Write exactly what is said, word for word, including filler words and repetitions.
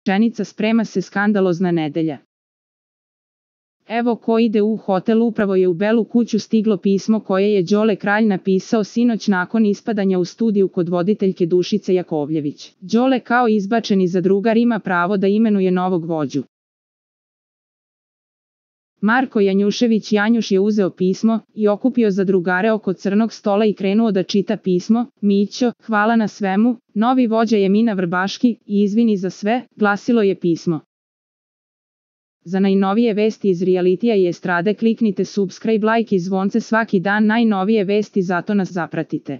rečenica sprema se skandalozna nedelja. Evo ko ide u hotel, upravo je u Belu kuću stiglo pismo koje je Đole Kralj napisao sinoć nakon ispadanja u studiju kod voditeljke Dušice Jakovljević. Đole kao izbačeni zadrugar ima pravo da imenuje novog vođu. Marko Janjušević Janjuš je uzeo pismo i okupio zadrugare oko crnog stola i krenuo da čita pismo. Mićo, hvala na svemu, novi vođa je Mina Vrbaški i izvini za sve, glasilo je pismo. Za najnovije vesti iz realitija i estrade kliknite subscribe, like i zvonce svaki dan, najnovije vesti, zato nas zapratite.